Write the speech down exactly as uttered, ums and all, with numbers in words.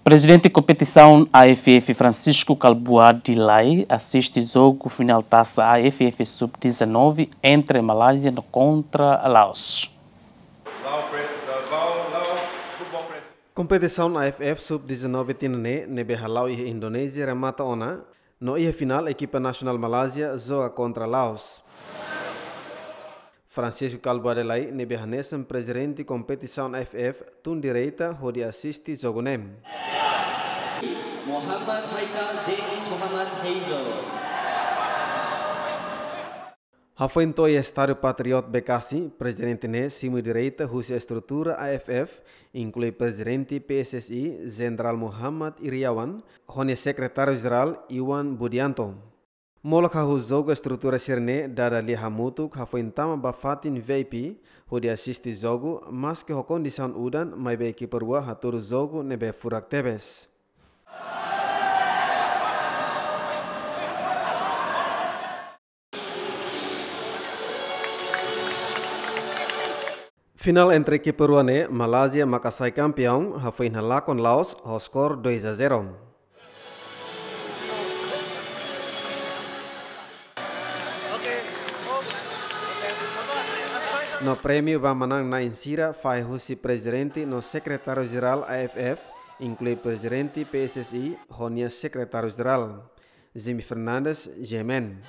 Prezidente kompetisaun A F F, Francisco Kalbuadi Lay, asiste jogu finál Tasa A F F Sub dezanove entre Malázia no kontra Laos. Kompetisaun A F F Sub dezanove tinan ne'e, ne'ebé hala'o iha Indonézia, remata ona, no iha finál ekipa nasionál Malázia joga kontra Laos. Francisco Kalbuadi Lay, ne'ebé hanesan prezidente kompetisaun A F F, tun direta hodi asiste jogu ne'e. Muhammad Haikal Dennis Muhammad Hazel. Hafoin to'o iha Estádiu Patriot Bekasi, prezidente ne'e simu direta husi estrutura A F F, inklui prezidente P S S I, Jenerál Muhammad Iriawan, ho nia sekretáriu jerál Iwan Budianto. Molok hahú jogu, estrutura sira-ne'e dada lia hamutuk hafoin tama ba fatin V I P, hodi asiste jogu, maske ho kondisaun udan, maibé ekipa rua hatudu jogu ne'ebé furak tebes. Finál entre ekipa rua ne'e, Malázia maka sai kampiaun, hafoin halakon Laos ho skor dois a zero. No prémiu ba manán-na'in sira fahe husi prezidente no sekretáriu jerál A F F, inklui prezidente P S S I, ho nia sekretáriu jerál. Jimmy Fernandes, G M N.